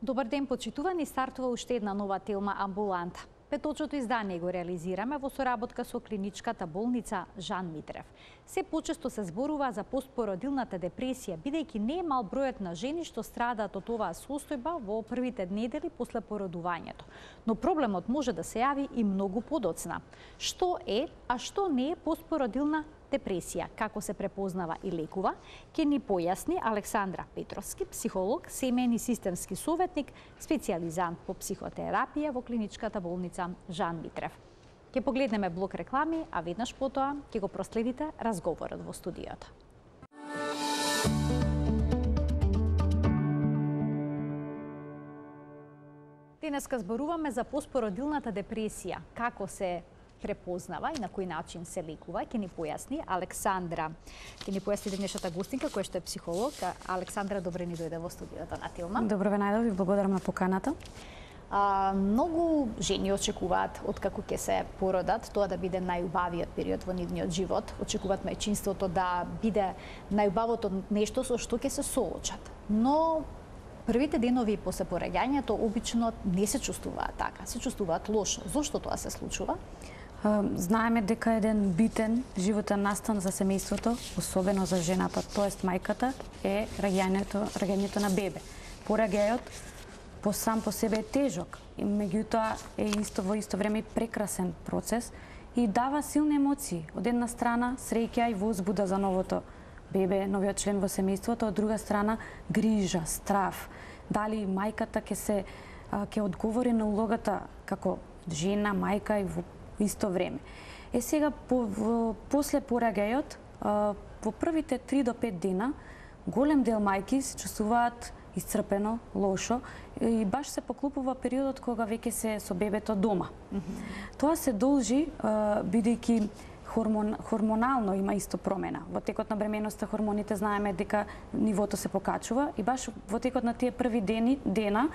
Добар ден, почитувани, стартува уште една нова телма Амбуланта. Петочното издание го реализираме во соработка со клиничката болница Жан Митрев. Се почесто се зборува за постпородилната депресија, бидејќи не е мал бројот на жени што страдаат од оваа состојба во првите недели после породувањето. Но проблемот може да се јави и многу подоцна. Што е, а што не е постпородилна депресија, како се препознава и лекува, ќе ни појасни Александра Петровски, психолог, семејни системски советник, специјализант по психотерапија во клиничката болница Жан Митрев. Ќе погледнеме блок реклами, а веднаш потоа ќе го проследите разговорот во студиото. Денеска зборуваме за постпородилната депресија, како се препознава и на кој начин се лекува, ќе ни појасни Александра. Ќе ни појасни денешната гостинка, која што е психолог. Александра, добре ни дојде во студиото на Телма. Добро ве најдов и благодарам на поканата. Многу жени очекуваат откако ќе се породат тоа да биде најубавиот период во нивниот живот. Очекуваат мајчинството да биде најубавото нешто со што ќе се соочат. Но првите денови после пораѓањето обично не се чувствуваат така, се чувствуваат лошо. Зошто тоа се случува? Знаеме дека еден битен животен настан за семејството, особено за жената, тоест мајката, е раѓањето на бебе. Пораѓајот сам по себе е тежок, и меѓутоа е во исто време и прекрасен процес и дава силни емоции. Од една страна среќа и возбуда за новото бебе, новиот член во семејството, од друга страна грижа, страв. Дали мајката ќе одговори на улогата како жена, мајка и во исто време. Сега после пораѓајот, во првите 3 до 5 дена, голем дел мајки се чувствуваат исцрпено, лошо и баш се поклупува периодот кога веќе се со бебето дома. Тоа се должи бидејќи хормонално има исто промена. Во текот на бременоста хормоните знаеме дека нивото се покачува и баш во текот на тие први дена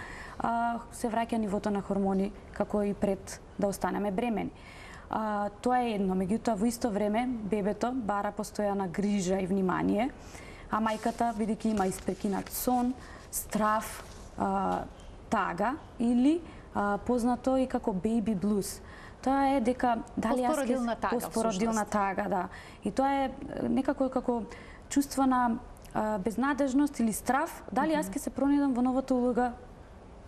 се враќа нивото на хормони како и пред да останеме бремени. Тоа е едно, меѓутоа во исто време бебето бара постојана грижа и внимание, а мајката бидејќи има испрекинат сон, страв, тага или познато и како baby blues. Тоа е дека дали постпородилна тага, да. И тоа е некако како чувство на безнадежност или страв, дали јас ќе се пронидам во новата улога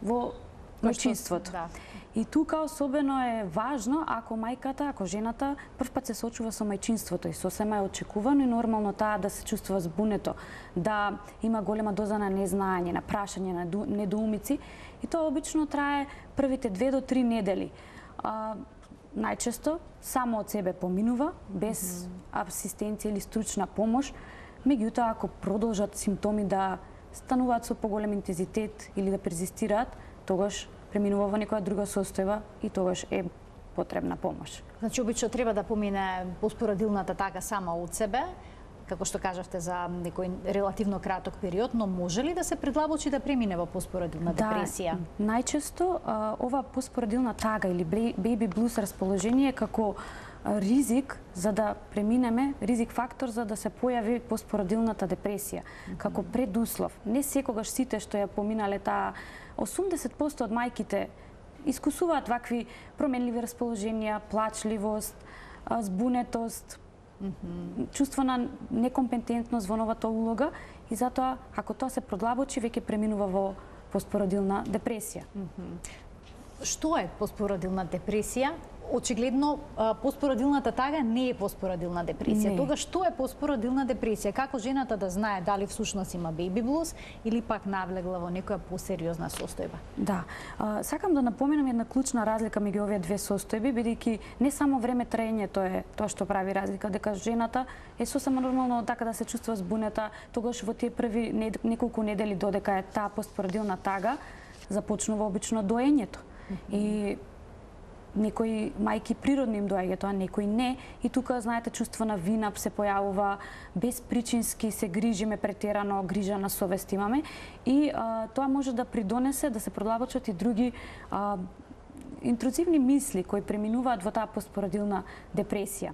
во мајчинството. Да. И тука особено е важно ако мајката, ако жената првпат се соочува со мајчинството и сосема е очекувано и нормално таа да се чувствува збунето, да има голема доза на незнаење, на прашање, на недоумици и тоа обично трае првите 2 до 3 недели. Најчесто само од себе поминува, без асистенција или стручна помош, меѓутоа ако продолжат симптоми да стануваат со поголем интензитет или да перзистираат, тогаш преминува во некоја друга состојба и тогаш е потребна помош. Значи, обично треба да помине постпородилната тага сама од себе, како што кажавте за некој релативно краток период, но може ли да се предлабочи да премине во постпородилна депресија? Да, најчесто ова постпородилна тага или baby blues расположение како ризик за да преминеме, ризик фактор за да се појави постпородилната депресија, како предуслов. Не секогаш сите што ја поминале таа 80% од мајките искусуваат вакви променливи расположенија, плачливост, збунетост, чувство на некомпетентност во новата улога и затоа, ако тоа се продлабочи, веќе преминува во постпородилна депресија. Што е постпородилна депресија? Очигледно, постпородилната тага не е постпородилна депресија. Тога што е постпородилна депресија? Како жената да знае дали всушност има baby blues или пак навлегла во некоја посериозна состојба? Да. Сакам да напоменам една клучна разлика меѓу овие две состојби, бидејќи не само време траењето е тоа што прави разлика, дека жената е сосема нормално така да се чувствува збунета, тогаш во тие први неколку недели додека е таа постпородилна тага, започнува обично доењето. И некои мајки природно им доаѓа тоа, некои не. И тука, знаете, чувство на вина се појавува, безпричински се грижиме претерано, грижа на совест имаме. И тоа може да придонесе да се продлабочат и други интрузивни мисли кои преминуваат во таа постпородилна депресија.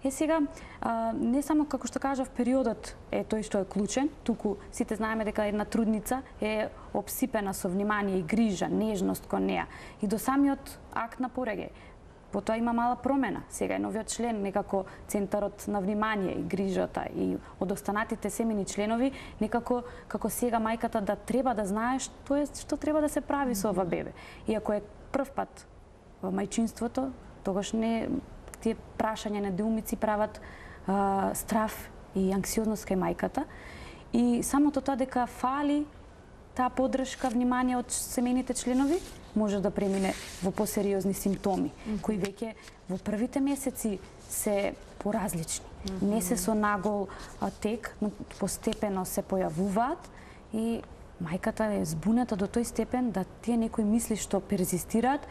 Сега, не само како што кажав, периодот е тој што е клучен, туку сите знаеме дека една трудница е обсипена со внимание и грижа, нежност кон неа. И до самиот акт на пораѓај. Потоа има мала промена. Сега е новиот член, некако центарот на внимание и грижата и од останатите семени членови, некако како сега мајката да треба да знае што треба да се прави со ова бебе. И ако е прв пат во мајчинството, тогаш не тие прашања, недоумици прават страф и анксиозност кај мајката. И самото тоа дека фали таа поддршка, внимание од семејните членови, може да премине во посериозни симптоми, кои веќе во првите месеци се поразлични. Не се со нагол тек, но постепено се појавуваат и мајката е збунета до тој степен да тие некои мисли што перзистираат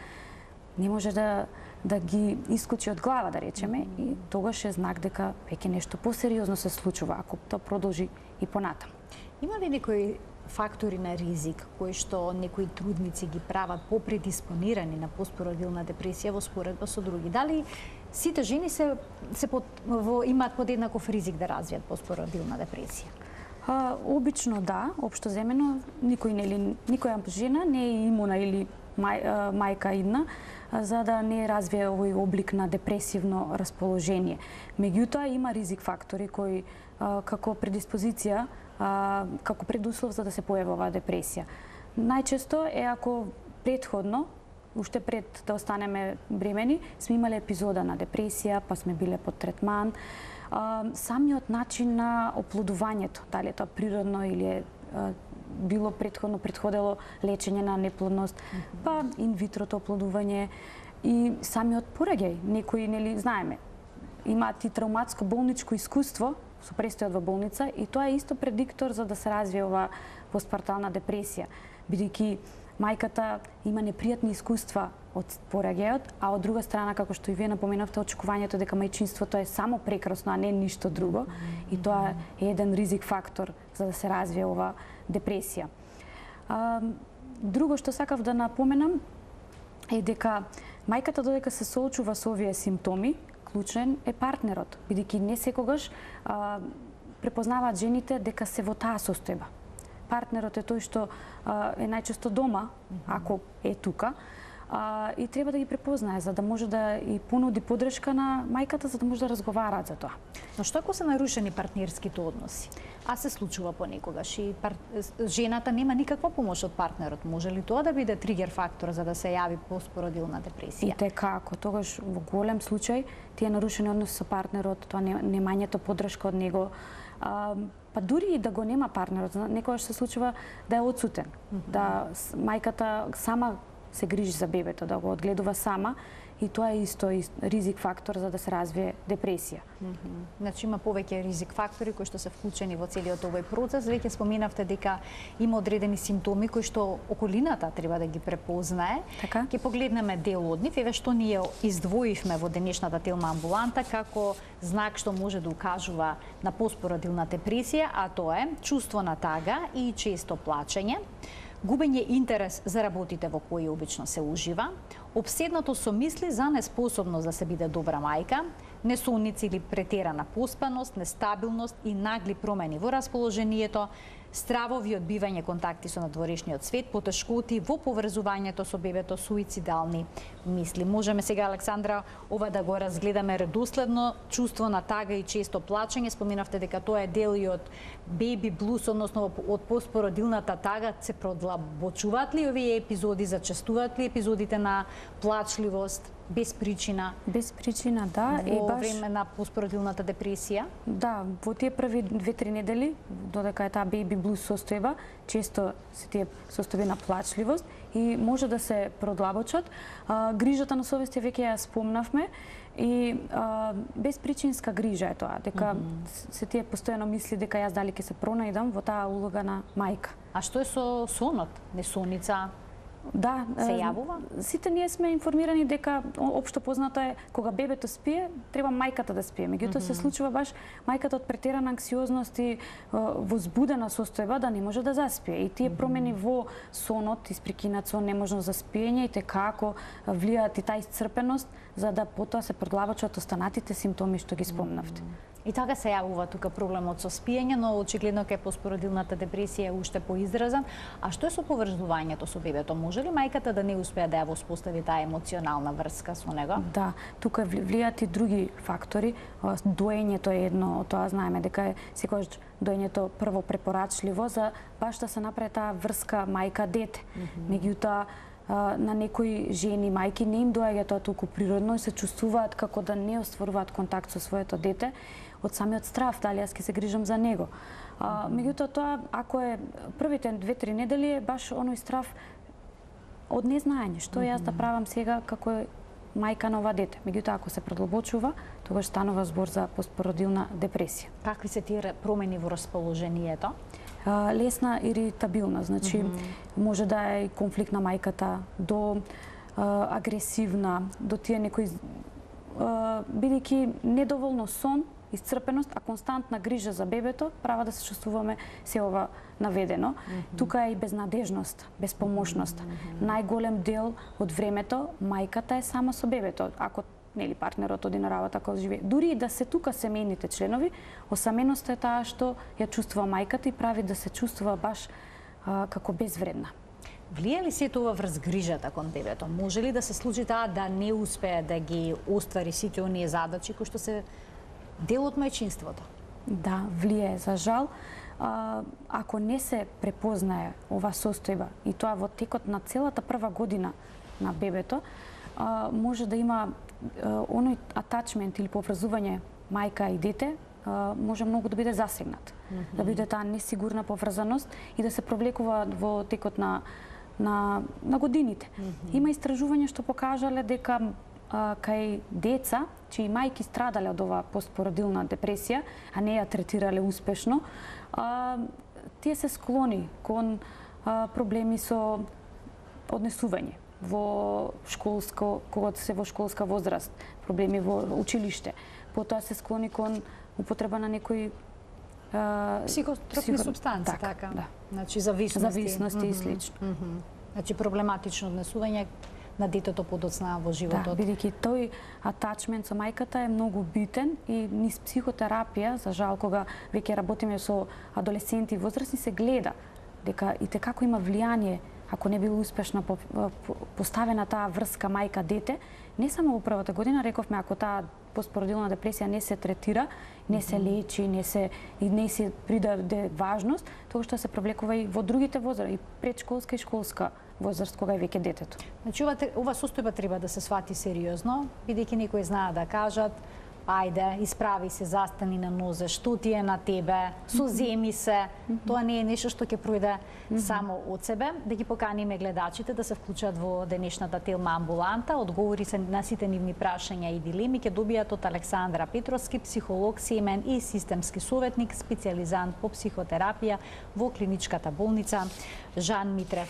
не може да ги исклучи од глава, да речеме, и тогаш е знак дека веќе нешто посериозно се случува, ако тоа продолжи и понатаму. Има ли некои фактори на ризик кои што некои трудници ги прават попредиспонирани на постпородилна депресија во споредба со други? Дали сите жени имаат подеднаков ризик да развијат постпородилна депресија? Обично да, општо земено, никоја жена не е имуна или мајка идна за да не развие овој облик на депресивно расположение. Меѓутоа има ризик фактори кои како предиспозиција, како предуслов за да се појави оваа депресија. Најчесто е ако предходно, уште пред да останеме бремени, сме имале епизода на депресија, па сме биле под третман. Самиот начин на оплодувањето, дали е тоа природно или е било предходело лечење на неплодност, па инвитрото оплодување и самиот пораѓај. Некои, знаеме, имаат и травматско болничко искуство со престојот во болница и тоа е исто предиктор за да се развие ова постпартална депресија, бидејќи мајката има непријатни искуства од пораѓајот, а од друга страна, како што и вие напоменавте, очекувањето дека мајчинството е само прекрасно, а не ништо друго, и тоа е еден ризик фактор за да се развие ова депресија. Друго што сакав да напоменам е дека мајката додека се соочува со овие симптоми, клучен е партнерот, бидејќи не секогаш препознаваат жените дека се во таа состојба. Партнерот е тој што е најчесто дома, ако е тука, и треба да ги препознае за да може да и понуди поддршка на мајката за да може да разговараат за тоа. Но што ако се нарушени партнерските односи? А се случува понекогаш и жената нема никаква помош од партнерот. Може ли тоа да биде тригер фактор за да се јави постпородилна депресија? И како, тогаш во голем случај тие нарушени односи со партнерот, тоа немањето поддршка од него, па дури и да го нема партнерот, некогаш се случува да е одсутен, да мајката сама се грижи за бебето, да го одгледува сама, и тоа е исто ризик фактор за да се развие депресија. Значи има повеќе ризик фактори кои што се вклучени во целиот овој процес. Веќе споменавте дека има одредени симптоми кои што околината треба да ги препознае. Така? Ќе погледнеме дел од нив, еве што ние издвоивме во денешната Телма амбуланта како знак што може да укажува на постпородилна депресија, а тоа е чувство на тага и често плачење, губење интерес за работите во кои обично се ужива, обседнато со мисли за неспособност да се биде добра мајка, несонници или претерана поспаност, нестабилност и нагли промени во расположението, стравови од бивање контакти со надворешниот свет, потешкоти во поврзувањето со бебето, суицидални мисли. Можеме сега, Александра, ова да го разгледаме редоследно, чувство на тага и често плачење. Споменавте дека тоа е дел и од беби блус, односно од постпородилната тага. Се продлабочуваат ли овие епизоди, зачестуваат ли епизодите на плачливост без причина? Без причина, да. Во време на постпородилната депресија? Да, во тие први 2-3 недели, додека е таа беби блус состојба, често се тие состојби на плачливост и може да се продлабочат. Грижата на совест веќе ја спомнавме и безпричинска грижа е тоа, дека се тие постојано мисли дека јас дали ќе се пронајдам во таа улога на мајка. А што е со сонот? Несоница? Да, се јавува? Сите ние сме информирани дека општо познато е кога бебето спие, треба мајката да спие. Меѓутоа се случува баш мајката од претерана анксиозност и возбудена состојба да не може да заспие. И тие промени во сонот, испрекинат сон, неможност за спиење и како влијаат и таа исцрпеност за да потоа се продлабочат останатите симптоми што ги спомнавте. И така се јавува тука проблемот со спиење, но очигледно кај постпородилната депресија е уште поизразен. А што е со поврзувањето со бебето? Може ли мајката да не успее да ја воспостави таа емоционална врска со него? Да, тука влијаат и други фактори. Доењето е едно, тоа знаеме дека е секогаш доењето прво препорачливо за баш да се направи таа врска мајка-дете. Меѓутоа на некои жени, мајки не им доаѓа тоа толку природно и се чувствуваат како да не остваруваат контакт со своето дете од самиот страв, дали јас ќе се грижам за него. Меѓутоа тоа, ако е првите 2-3 недели, е баш оној страв од незнаење, што јас да правам сега како мајка на ова дете. Меѓутоа, ако се продлабочува, тогаш станува збор за постпородилна депресија. Какви се тие промени во расположението? Лесна иритабилна, значи може да е конфликт на мајката, до агресивна, до тие некои бидејќи недоволно сон, исцрпеност, а константна грижа за бебето права да се чувствуваме се ова наведено. Тука е и безнадежност, безпомошност. Најголем дел од времето мајката е сама со бебето. Ако нели партнерот оди на работа, ако живее. Дури и да се тука семејните членови, осаменоста е таа што ја чувствува мајката и прави да се чувствува баш како безвредна. Влија ли се тоа врз грижата кон бебето? Може ли да се случи таа да не успее да ги оствари сите оние задачи кои што се дел од мајчинството? Да, влие, за жал. Ако не се препознае ова состојба и тоа во текот на целата прва година на бебето, може да има оној атачмент или поврзување мајка и дете, може многу да биде засегнат. Да биде таа несигурна поврзаност и да се провлекува во текот на годините. Има истражувања што покажале дека кај деца чии мајки страдале од ова постпородилна депресија, а не ја третирале успешно, тие се склони кон проблеми со однесување во кога се во школска возраст, проблеми во училиште. Потоа се склони кон употреба на некои психотропни супстанци, така. Да. Значи зависности и слично. Значи проблематично однесување на детето подоцна во животот. Да, бидејќи тој атачмент со мајката е многу битен и низ психотерапија, за жал кога веќе работиме со адолесценти и возрастни, се гледа дека и како има влијание ако не бил успешно поставена таа врска мајка-дете, не само во првата година, рековме, ако таа постпородилна депресија не се третира, не се лечи, не се придаде важност, тоа што се провлекува и во другите возрасти, и предшколска и школска возраст, кога е веќе детето. Значи, ова состојба треба да се свати сериозно, бидејќи некои знаат да кажат: ајде, исправи се, застани на нозе, што ти е на тебе, соземи се. Тоа не е нешто што ќе пројде само од себе. Да ги поканиме гледачите да се вклучат во денешната Телма амбуланта. Одговори се на сите нивни прашања и дилеми ќе добијат од Александра Петровски, психолог, семен и системски советник, специјализант по психотерапија во клиничката болница Жан Митрев.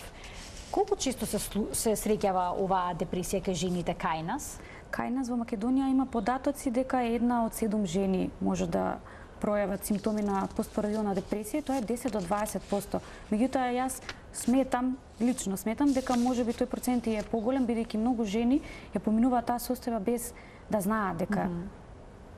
Колку често се среќава оваа депресија кај жените кај нас? Кај нас во Македонија има податоци дека 1 од 7 жени може да пројават симптоми на постпородилна депресија, тоа е 10 до 20%. Меѓутоа јас лично сметам дека можеби тој процент е поголем, бидејќи многу жени ја поминуваат таа состојба без да знаат дека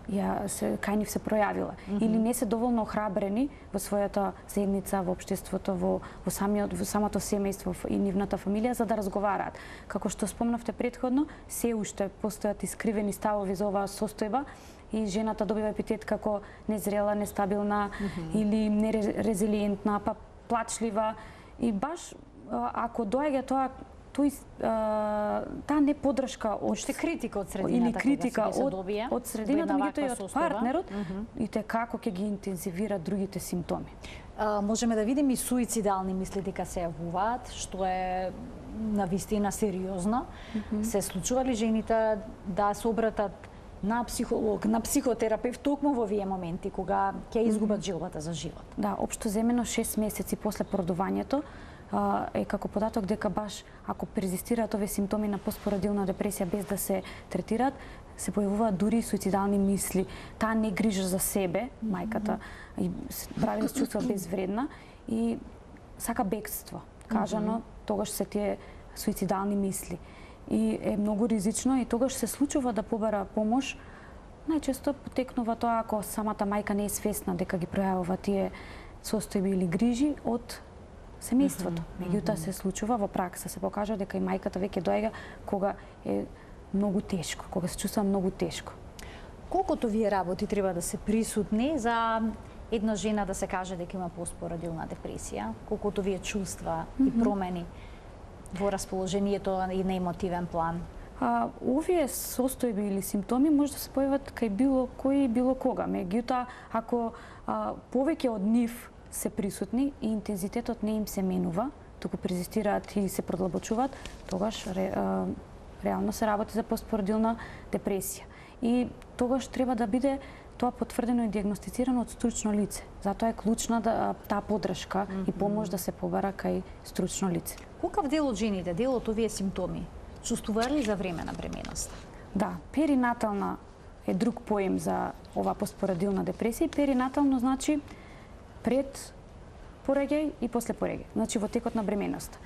кај нив се пројавила. Или не се доволно охрабрени во својата заедница, во општеството, во самото семејство и нивната фамилија за да разговараат. Како што спомнавте претходно, се уште постојат искривени ставови за оваа состојба и жената добива епитет како незрела, нестабилна или нерезилиентна, па плачлива. И баш ако доаѓа таа неподршка од критика од средината, или критика од средината, меѓутоа и од партнерот, и како ќе ги интензивира другите симптоми. Можеме да видиме и суицидални мисли дека се јавуваат, што е навистина сериозно. Се случува ли жените да се обратат на психолог, на психотерапевт токму во овие моменти кога ќе изгубат желбата за живот? Да, општо земено 6 месеци после породувањето е како податок дека баш ако перзистираат овие симптоми на постпородилна депресија без да се третираат, се појавуваат дури и суицидални мисли. Таа не грижа за себе, мајката, и прави да се чувства безвредна и сака бегство. Кажано, тогаш се тие суицидални мисли. И е многу ризично и тогаш се случува да побара помош. Најчесто потекнува тоа ако самата мајка не е свесна дека ги пројавува тие состојби или грижи од семејството. Меѓутоа се случува во пракса, се покажа дека и мајката веќе доаѓа кога е многу тешко, кога се чувства многу тешко. Колкото вие работи треба да се присутни за една жена да се каже дека има постпородилна депресија, колкото вие чувства и промени во расположението и на емотивен план? Овие состојби или симптоми може да се појават кај било кој и било кога. Меѓутоа, ако повеќе од нив се присутни и интензитетот не им се менува, туку презистираат и се продлабочуваат, тогаш реално се работи за постпородилна депресија. И тогаш треба да биде тоа потврдено и диагностицирано од стручно лице. Затоа е клучна таа подршка и помош да се побара кај стручно лице. Колкав дел од жените, дел од овие симптоми, чувствувале за време на бременоста? Да, перинатална е друг поем за ова постпородилна депресија. Перинатално значи пред пореѓај и после пореѓај, значи во текот на бременоста.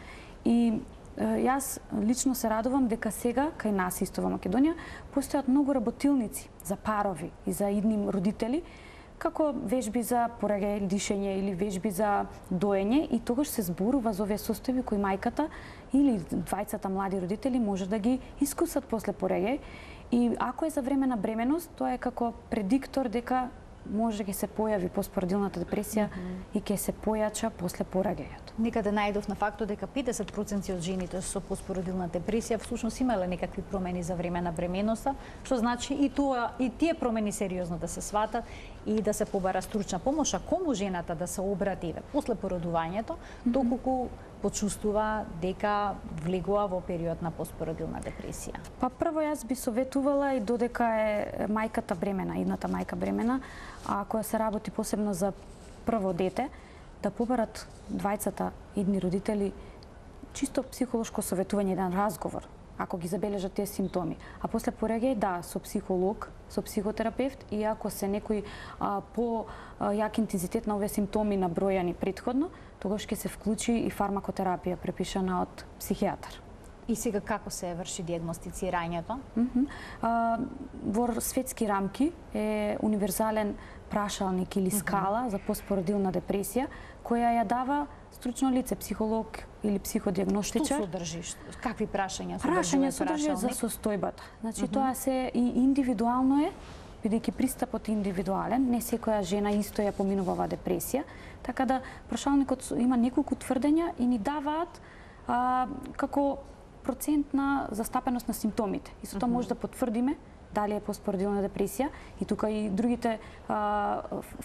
И јас лично се радувам дека сега кај нас исто во Македонија постојат многу работилници за парови и за идни родители, како вежби за пореѓај, дишење или вежби за доење, и тогаш се зборува за овие состојби кои мајката или двајцата млади родители може да ги искусат после пореѓај. И ако е за време на бременост, тоа е како предиктор дека може ќе се појави постпородилната депресија и ќе се појача после пораѓајот. Некаде најдов на фактот дека 50% од жените со постпородилна депресија всушност имале некакви промени за време на бременоста, што значи и тие промени сериозно да се сватат и да се побара стручна помош, а кому жената да се обрати после породувањето, доколку почувствува дека влегува во период на постпородилна депресија? Па прво јас би советувала и додека е мајката бремена, идната мајка бремена, а ако се работи посебно за прво дете, да побарат двајцата идни родители чисто психолошко советување, еден разговор, ако ги забележат тие симптоми. А после пореѓај, да, со психолог, со психотерапевт, и ако се некој по-јак интензитет на овие симптоми набројани предходно, тогаш ќе се вклучи и фармакотерапија препишана од психијатар. И сега како се врши диагностицирањето? Во светски рамки е универзален прашалник или скала за постпородилна депресија, која ја дава стручно лице, психолог или психодиагностичар. Што содржи? Какви прашања содржи? Прашања содржи за состојбата. Значи тоа се и индивидуално е, бидејќи пристапот е индивидуален, не секоја жена исто ја поминува оваа депресија, така да прашалникот има неколку тврдења и ни даваат како процент на застапеност на симптомите. И со тоа може да потврдиме дали е постпородилна депресија, и тука и другите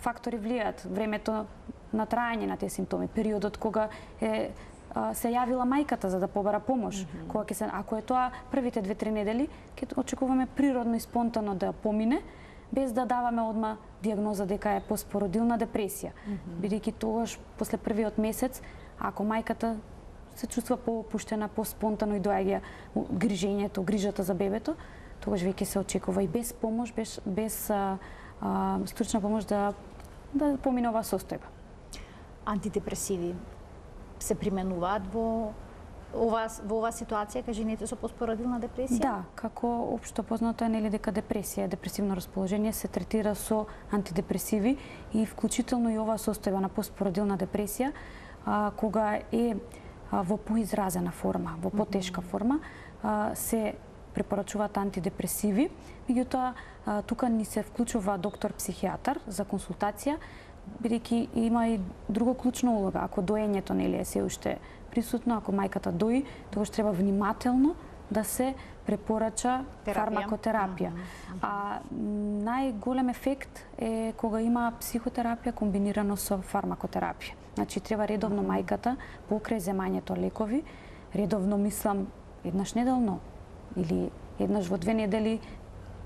фактори влијаат, времето на траење на тие симптоми, периодот кога се јавила мајката за да побара помош, кога ќе се, ако е тоа првите 2-3 недели, ќе очекуваме природно и спонтано да помине, без да даваме одма диагноза дека е постпородилна депресија. Бидејќи тогаш после првиот месец, ако мајката се чувства поопуштена, поспонтано и доаѓа грижењето, грижата за бебето, тогаш веќе се очекува и без помош, без стручна помош да помине оваа состојба. Антидепресиви се применуваат во оваа ситуација кај жените со постпородилна депресија? Да, како општо познато е нели дека депресија, депресивно расположение се третира со антидепресиви и вклучително и оваа состојба на постпородилна депресија, кога е во поизразена форма, во потешка форма, се препорачуваат антидепресиви. Меѓутоа, тука ни се вклучува доктор-психијатар за консултација, бидејќи има и друга клучна улога. Ако доењето нели е се уште присутно, ако мајката дои, тогаш треба внимателно да се препорача фармакотерапија. А најголем ефект е кога има психотерапија комбинирано со фармакотерапија. Значи треба редовно мајката покрај земањето лекови, редовно мислам еднаш неделно или еднаш во 2 недели,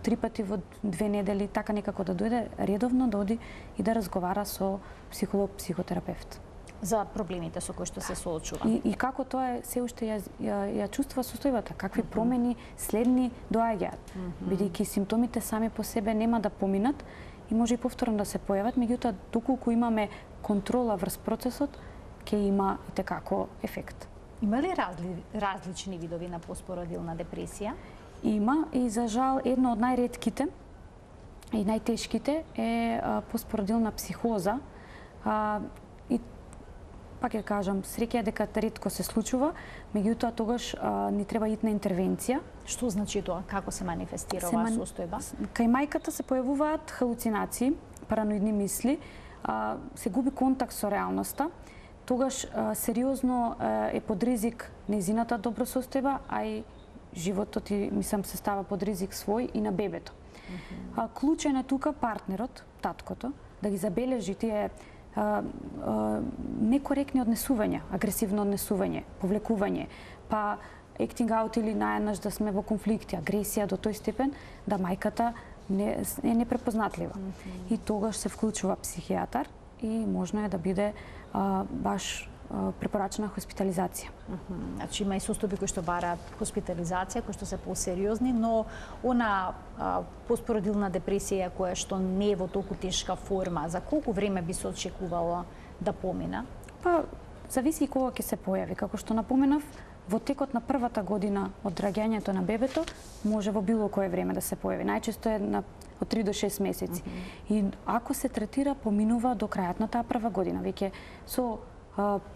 3 пати во 2 недели, така некако да дојде редовно да оди и да разговара со психолог, психотерапевт. за проблемите со кои што се соочува. И како тоа се уште ја чувствува состојбата, какви промени следни доаѓаат. Бидејќи симптомите сами по себе нема да поминат и може и повторно да се појават, меѓутоа доколку имаме контрола врз процесот, ќе има и tekako ефект. Има ли различни видови на постпородилна депресија? Има и за жал едно од најретките и најтешките е постпородилна психоза. И пак ќе кажам, среќа е дека ретко се случува, меѓутоа тогаш ни треба итна интервенција. Што значи тоа? Како се манифестира оваа состојба? Кај мајката се појавуваат халуцинации, параноидни мисли, се губи контакт со реалноста, тогаш сериозно е под ризик нејзината добросостојба, а и животот и мислам се става под ризик свој и на бебето. Клучен е тука партнерот, таткото, да ги забележи тие некоректни однесувања, агресивно однесување, повлекување, па acting out или наеднаш да сме во конфликти, агресија до тој степен да мајката е непрепознатлива. И тогаш се вклучува психијатар и можно е да биде баш препорачена хоспитализација. Значи има и состојби кои што бараат хоспитализација, кои што се посериозни, но она постпородилна депресија која што не е во толку тешка форма, за колку време би се очекувало да помина? Па зависи и кога ќе се појави. Како што напоменав, во текот на првата година од раѓањето на бебето може во било кое време да се појави. Најчесто е од 3 до 6 месеци. И ако се третира, поминува до крајот на таа прва година, веќе со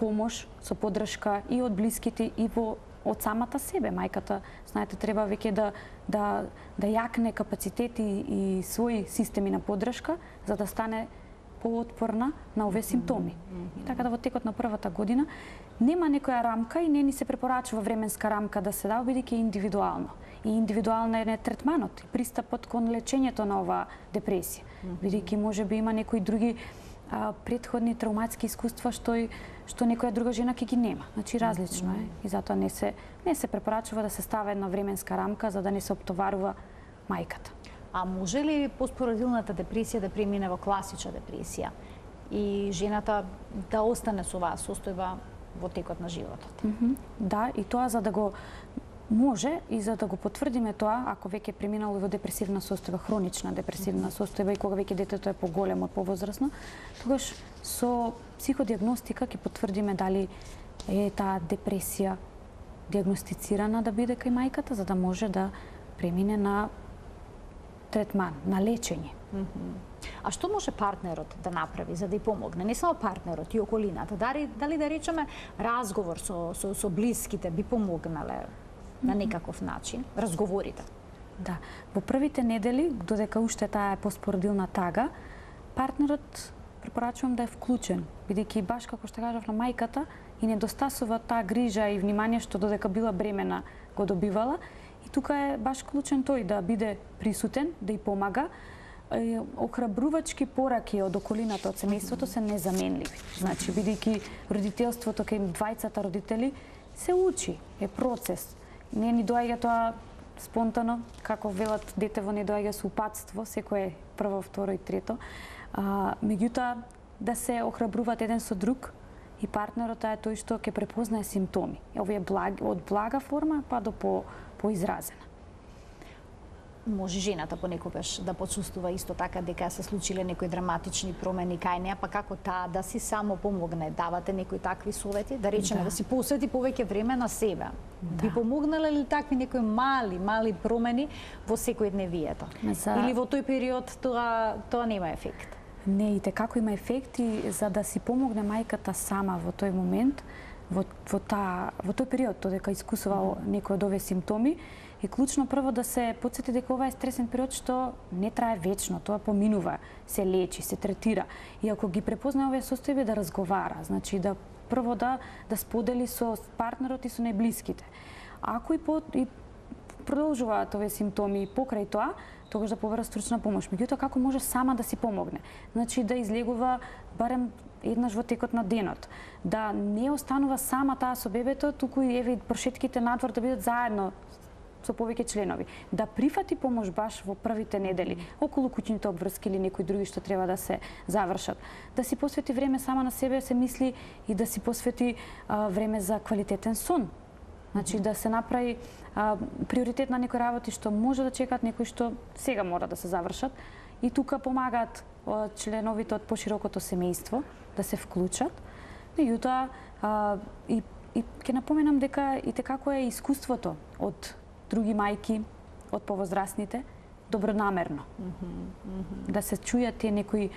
помош, со поддршка и од блиските и од самата себе. Мајката, знаете, треба веќе да јакне капацитети и своји системи на поддршка за да стане поотпорна на овие симптоми. И така да во текот на првата година нема некоја рамка и не ни се препорачува временска рамка да се дава, бидејќи е индивидуално. И индивидуално е третманот и пристапот кон лечењето на оваа депресија. Бидејќи можеби има некои други претходни травматски искуства што некоја друга жена ќе ги нема. Значи различно е и затоа не се препорачува да се става една временска рамка за да не се оптоварува мајката. А може ли постпородилната депресија да премине во класична депресија и жената да остане со оваа состојба во текот на животот? Да, и тоа за да го може и за да го потврдиме тоа, ако веќе преминало во депресивна состојба, хронична депресивна состојба и кога веќе детето е поголемо, повозрасно, тогаш со психодиагностика ќе потврдиме дали е таа депресија диагностицирана да биде кај мајката, за да може да премине на третман, на лечење. А што може партнерот да направи за да ја помогне? Не само партнерот, и околината. Дали да речеме разговор со блиските би помогнале на некаков начин, разговорите? Да, во првите недели, додека уште таа е постпородилна тага, партнерот препорачувам да е вклучен, бидејќи баш како што кажав на мајката и недостасува таа грижа и внимание што додека била бремена го добивала. И тука е баш клучен тој да биде присутен, да ја помага. Охрабрувачки пораки од околината, од семејството се незаменливи. Значи, бидејќи родителството кај двајцата родители се учи, е процес. Не ни доаѓа тоа спонтано, како велат детево не доаѓа со упатство, секој е прво, второ и трето. Меѓутоа, да се охрабруваат еден со друг и партнерот е тој што ќе препознае симптоми. Овие од блага форма па до поизразена. Може жената понекогаш да почувствува исто така дека се случиле некои драматични промени кај неа, па како таа да си само помогне? Давате некои такви совети? Да речеме да си посвети повеќе време на себе. Би помогнале ли такви некои мали промени во секојдневието? Или во тој период тоа нема ефект? Не, и како има ефект и за да си помогне мајката сама во тој момент, во тој период, додека искусува некои од овие симптоми, е клучно прво да се потсети дека ова е стресен период што не трае вечно, тоа поминува, се лечи, се третира. И ако ги препознае овие состојби, да разговара, значи да прво да сподели со партнерот и со најблиските. Ако и продолжуваат овие симптоми покрај тоа, тогаш да побара стручна помош. Меѓутоа, како може сама да си помогне? Значи да излегува барем еднаш во текот на денот, да не останува сама таа со бебето, туку и еве прошетките надвор да бидат заедно со повеќе членови, да прифати помош баш во првите недели, околу куќните обврски или некои други што треба да се завршат. Да си посвети време сама на себе, се мисли, и да си посвети време за квалитетен сон. Значи да се направи приоритет на некои работи што може да чекаат, некои што сега мора да се завршат. И тука помагаат членовите од поширокото семејство да се вклучат. Меѓутоа, и ќе напоменам дека и како е искуството од други мајки, од повозрастните, добронамерно. Да се чујат тие некои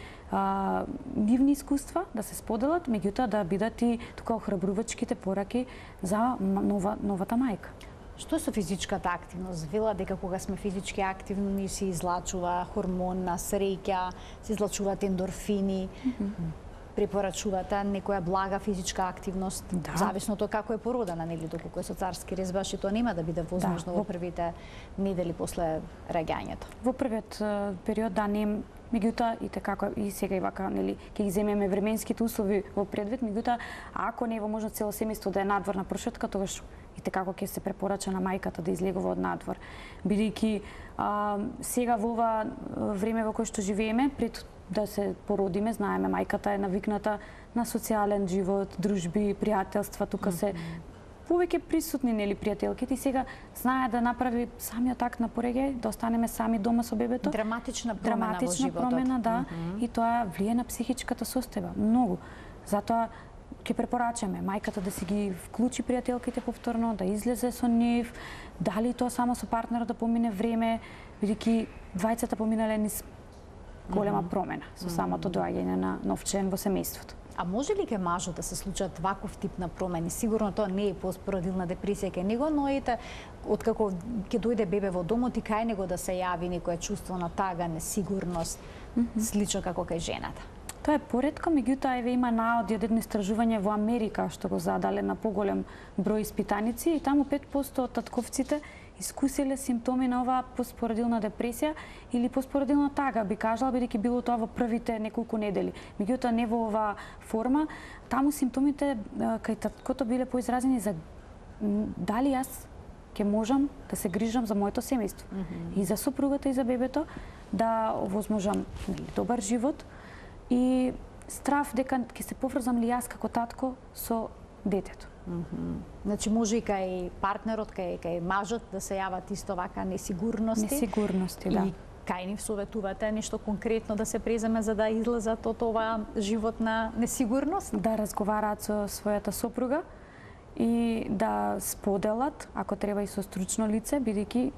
нивни искуства, да се споделат, меѓутоа да бидат и тука охрабрувачките пораки за новата мајка. Што со физичката активност? Вела дека кога сме физички активни се излачува хормон на среќа, се излачуваат ендорфини. Препорачувате некоја блага физичка активност, зависно од како е породена, нели, доколку е со царски рез, баш и тоа нема да биде возможно во првите недели после раѓањето. Во првиот период не, меѓутоа и како и сега и вака, нели, ќе ги земеме временските услови во предвид, меѓутоа ако не е возможно цело семејство да е надворна прошетка, тогаш и како ќе се препорача на мајката да излегува од надвор, бидејќи сега во ова време во кое што живееме, пред да се породиме, знаеме, мајката е навикната на социјален живот, дружби, пријателства, тука се повеќе присутни, нели, пријателките, и сега знае да направи самиот акт на пореѓај, да останеме сами дома со бебето. Драматична промена во животот. Драматична промена, да, и тоа влие на психичката состојба, многу. Затоа ќе препорачаме мајката да си ги вклучи пријателките повторно, да излезе со нив, дали тоа само со партнерот да помине време, бидејќи двајцата поминале низ голема промена со самото доаѓање на нов член во семејството. А може ли ке мажот да се случат ваков тип на промени? Сигурно тоа не е постпородилна депресија кај него, но ете, откако ќе дојде бебе во домот и кај него да се јави некое чувство на тага, несигурност, слично како кај жената. Тоа е поретко, меѓутоа еве има наоди од едно истражување во Америка што го задале на поголем број испитаници, и таму 5% од татковците искусиле симптоми на оваа постпородилна депресија или постпородилна тага, би кажала, бидејќи било тоа во првите неколку недели. Меѓутоа не во оваа форма, таму симптомите кај таткото биле поизразени за дали јас ќе можам да се грижам за моето семејство и за сопругата и за бебето, да овозможам добар живот, и страв дека ќе се поврзам ли јас како татко со детето. Значи може и кај партнерот, кај мажот да се јават исто вака несигурности. Несигурности, да. И кај нив советувате нешто конкретно да се преземе за да излезат од оваа живот на несигурност? Да разговараат со својата сопруга и да споделат, ако треба и со стручно лице, бидејќи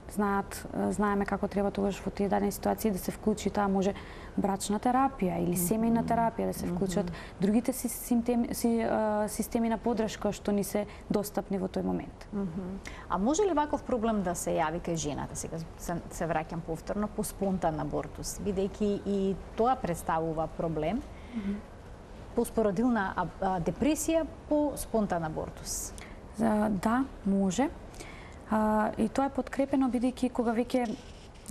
знаеме како треба тогаш во тие дадени ситуации да се вклучи таа може брачна терапија или семејна терапија, да се вклучат другите системи на поддршка што ни се достапни во тој момент. А може ли ваков проблем да се јави кај жената? Сега се враќам повторно по спонтан абортус, бидејќи и тоа представува проблем. Постпородилна депресија по спонтан абортус. Да, може. И тоа е подкрепено бидејќи кога веќе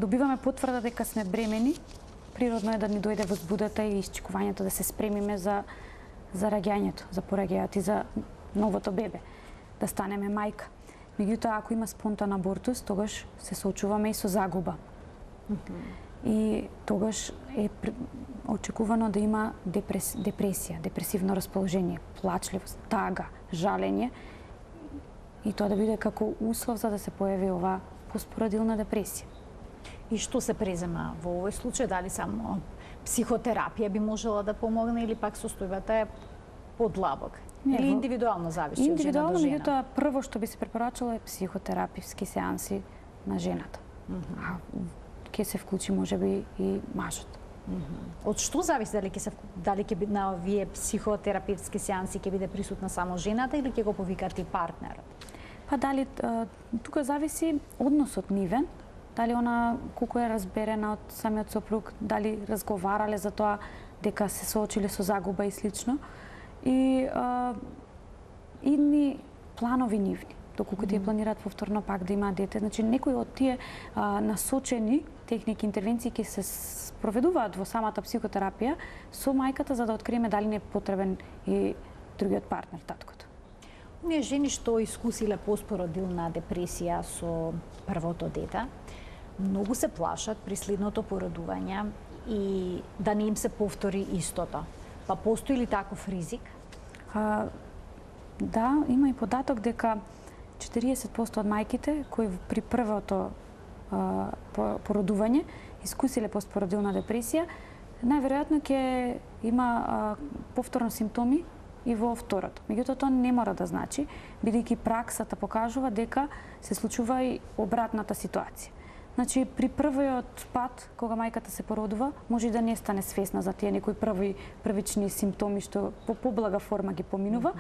добиваме потврда дека сме бремени, природно е да ни дојде возбудата и исчекувањето да се спремиме за раѓањето, за пораѓајот и за новото бебе, да станеме мајка. Меѓутоа, ако има спонтан абортус, тогаш се соочуваме и со загуба. И тогаш е очекувано да има депресија, депресивно расположение, плачливост, тага, жалење, и тоа да биде како услов за да се појави оваа постпородилна депресија. И што се презема во овој случај? Дали само психотерапија би можела да помогне или пак состојбата е подлабок? Или индивидуално зависи од жена до жена? Индивидуално, прво што би се препорачало е психотерапевски сеанси на жената. Ќе се вклучи можеби и мажот. Од што зависи дали ќе на овие психотерапевски сеанси ќе биде присутна само жената или ќе го повикат и партнерот? Па дали тука зависи односот нивен, дали она колку е разберена од самиот сопруг, дали разговарале за тоа дека се соочиле со загуба и слично, и идни планови нивни, доколку тие планираат повторно пак да имаат дете. Значи некои од тие насочени техники, интервенции ќе се спроведуваат во самата психотерапија со мајката за да откриеме дали не е потребен и другиот партнер, таткото. Ние жени што искусиле постпородилна депресија со првото дете, многу се плашат при следното породување и да не им се повтори истото. Па постои ли таков ризик? Да, има и податок дека 40% од мајките кои при првото породување искусиле постпородилна депресија, најверојатно ќе има повторно симптоми и во второто. Меѓутоа, тоа не мора да значи, бидејќи праксата покажува дека се случува и обратната ситуација. Значи, при првиот пат, кога мајката се породува, може и да не стане свесна за тие некои првични симптоми што по поблага форма ги поминува,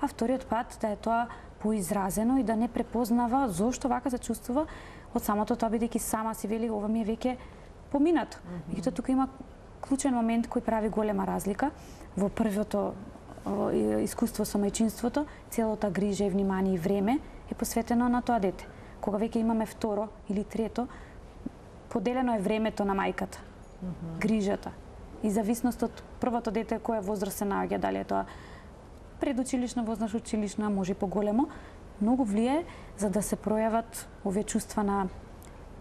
а вториот пат да е тоа поизразено и да не препознава зошто вака се чувствува од самото тоа, бидејќи сама си вели ова ми е веќе поминато. Меѓутоа, тука има клучен момент кој прави голема разлика во првото искуство со мајчинството, целата грижа и внимание и време е посветено на тоа дете. Кога веќе имаме второ или трето, поделено е времето на мајката, грижата. И зависност од првото дете која возраст се наоѓа, дали е тоа предучилишна возраст, училишна, може и поголемо, многу влијае за да се пројават овие чувства на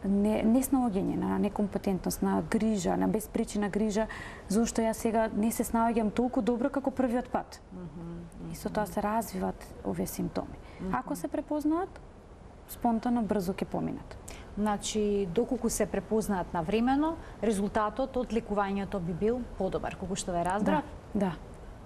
неснаоѓање, на некомпетентност, на грижа, на безпричина грижа, зашто јас сега не се снаоѓам толку добро како првиот пат. И со тоа се развиваат овие симптоми. Ако се препознаат, спонтано брзо ќе поминат. Значи, доколку се препознаат навремено, резултатот од лекувањето би бил подобар, колку што ве разбрав? Да,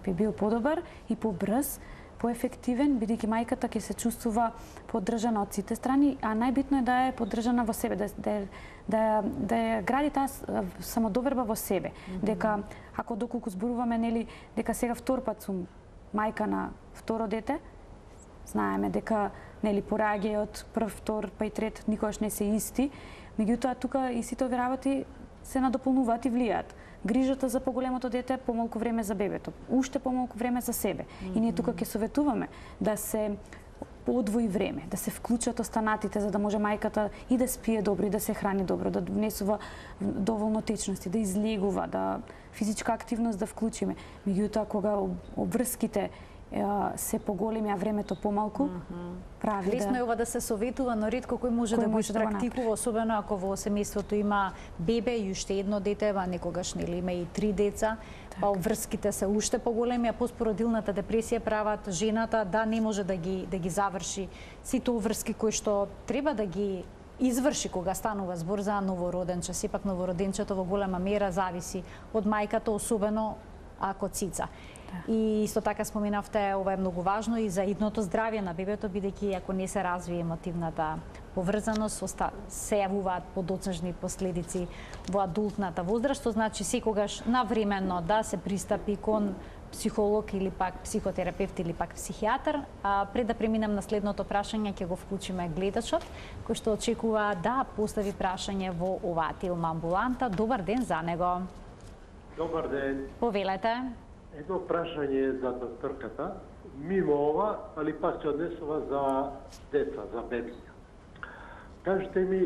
би бил подобар и побрз, поефективен, бидејќи мајката ќе се чувствува поддржана од сите страни, а најбитно е да е поддржана во себе, да ја гради таа самодоверба во себе. Дека, ако доколку зборуваме, нели, дека сега втор пат сум мајка на второ дете, знаеме дека нели пораѓајот прв, втор, па и трет никогаш не се исти, меѓутоа тука и сите овие работи се надополнуваат и влијаат. Грижата за поголемото дете, помалку време за бебето, уште помалку време за себе. И ние тука ќе советуваме да се одвои време, да се вклучат останатите за да може мајката и да спие добро, и да се храни добро, да донесува доволно течности, да излегува, да физичка активност да вклучиме. Меѓутоа кога обврските се поголеми, а времето помалку, прави да... Лесно е ова да се советува, но ретко кој може да го практикува, особено ако во семејството има бебе и уште едно дете, а некогаш нели има и 3 деца, па обврските се уште поголеми, а постпородилната депресија прават жената да не може да ги заврши сите обврски кои што треба да ги изврши кога станува збор за новороденче. Сепак новороденчето во голема мера зависи од мајката, особено ако цица. И исто така споменавте, ова е многу важно и за идното здравје на бебето, бидејќи ако не се развие емотивната поврзаност, се јавуваат подоцнежни последици во адултната возраст, што значи секогаш навремено да се пристапи кон психолог или пак психотерапевт или пак психијатар. Пред да преминам на следното прашање, ќе го вклучиме гледачот, кој што очекува да постави прашање во оваа Телма амбуланта. Добар ден за него. Добар ден. Повелете. Едно прашање за докторката, мимо ова, али пак се однесува за деца, за бебиња. Кажете ми,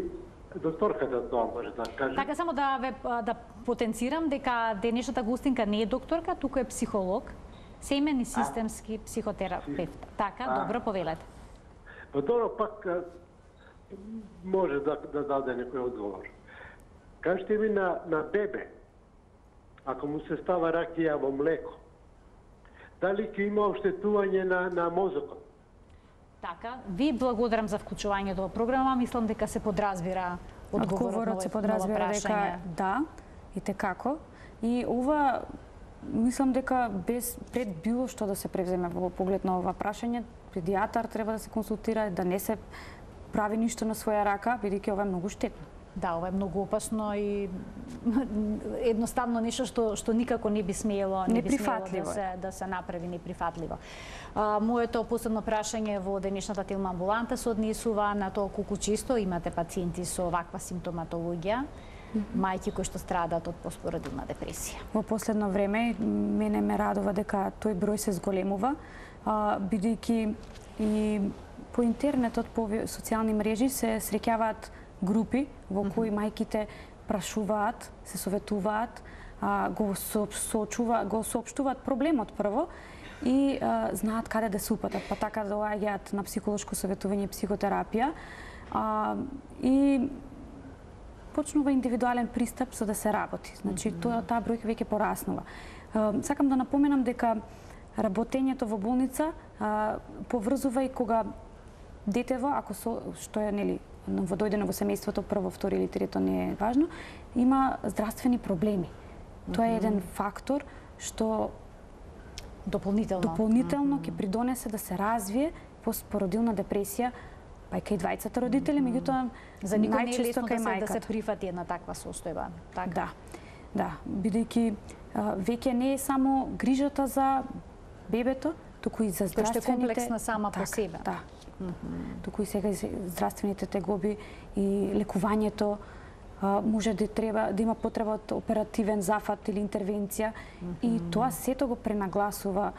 докторката тоа може да каже. Така само да потенцирам дека денешната гостинка не е докторка, туку е психолог, семен и системски психотерапевт. Така, добро, повелете. Па добро, пак може да даде некој одговор. Кажете ми на бебе, ако му се става ракија во млеко, дали ќе има оштетување на мозокот? Така, ви благодарам за вклучувањето во програма. Мислам дека се подразбира одговорот се подразбира дека да, и текако. И ова, мислам дека пред било што да се превземе во поглед на ова прашање, педијатар треба да се консултира, да не се прави ништо на своја рака, бидејќи ова е многу штетно. Да, ова е многу опасно и едноставно нешто што никако не би смело да се направи неприфатливо. Моето последно прашање во денешната Телма амбуланта се однесува на тоа колку често имате пациенти со ваква симптоматологија, мајки кои што страдаат од постпородилна депресија. Во последно време мене ме радува дека тој број се зголемува, бидејќи и по интернетот, по социјални мрежи се среќаваат групи во кои мајките прашуваат, се советуваат, го соопштуваат проблемот прво и знаат каде да се упатат, па така доаѓаат на психолошко советување и психотерапија. И почнува индивидуален пристап за да се работи. Значи, таа бројка веќе пораснува. Сакам да напоменам дека работењето во болница поврзува и кога детево, ако што е новодојдено во семејството, прво, второ или трето не е важно, има здравствени проблеми. Тоа е еден фактор што дополнително ќе придонесе да се развие постпородилна депресија, па и кај двајцата родители, меѓутоа за никој не е најчесто лесно кај мајката. да се прифати една таква состојба. Така. Да, бидејќи веќе не е само грижата за бебето, туку и за здравствените... Тоа што е комплексна сама по себе. Да. Туку и сега здравствените тегоби и лекувањето, може да има потреба од оперативен зафат или интервенција, и тоа сето го пренагласува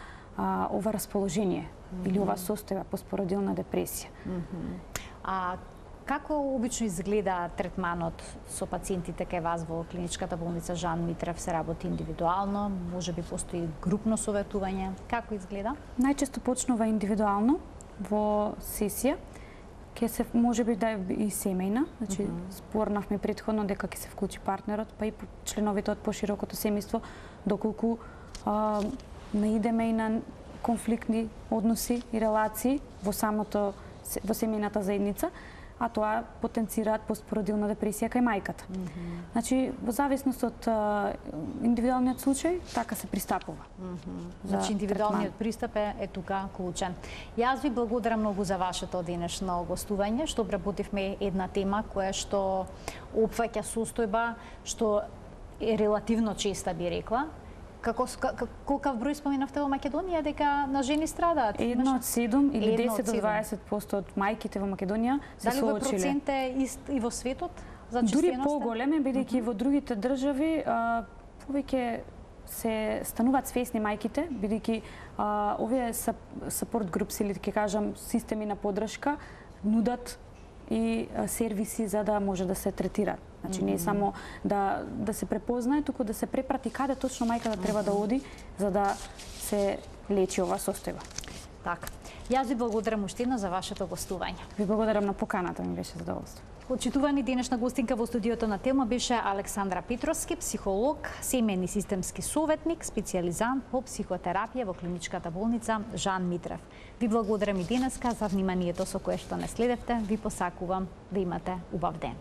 ова расположение или ова состојба постпородилна депресија. А како обично изгледа третманот со пациентите кај вас во клиничката болница Жан Митрев? Се работи индивидуално, можеби постои групно советување? Како изгледа? Најчесто почнува индивидуално во сесија, ќе се можеби да е и семејна, значи спорнавме претходно дека ќе се вклучи партнерот, па и членовите од поширокото семејство, доколку наидеме и на конфликтни односи и релации во семејната заедница, а тоа потенцираат постпородилна депресија кај мајката. Значи, во зависност од индивидуалниот случај, така се пристапува. Значи, индивидуалниот пристап е тука клучен. Јас ви благодарам многу за вашето денешно гостување, што обработивме една тема која што опфаќа состојба што е релативно честа, би рекла. Колкав број споменавте во Македонија дека на жени страдаат? 1 од 7 или 10 до 20% од мајките во Македонија се соочиле. Дали овој процент е ист и во светот за честеноста? Дури поголем е, бидејќи во другите држави повеќе се стануваат свесни мајките, бидејќи овие support groups или ќе кажам системи на поддршка нудат и сервиси за да може да се третира. Значи не е само да се препознае, туку да се препрати каде точно мајката треба да оди за да се лечи оваа состојба. Така. Јас ви благодарам уште еднаш за вашето гостување. Ви благодарам на поканата, ми беше задоволство. Почитувани, денешна гостинка во студиото на Телма беше Александра Петровски, психолог, семејни системски советник, специјализант по психотерапија во клиничката болница Жан Митрев. Ви благодарам и денеска за вниманието со кое што не следевте. Ви посакувам да имате убав ден.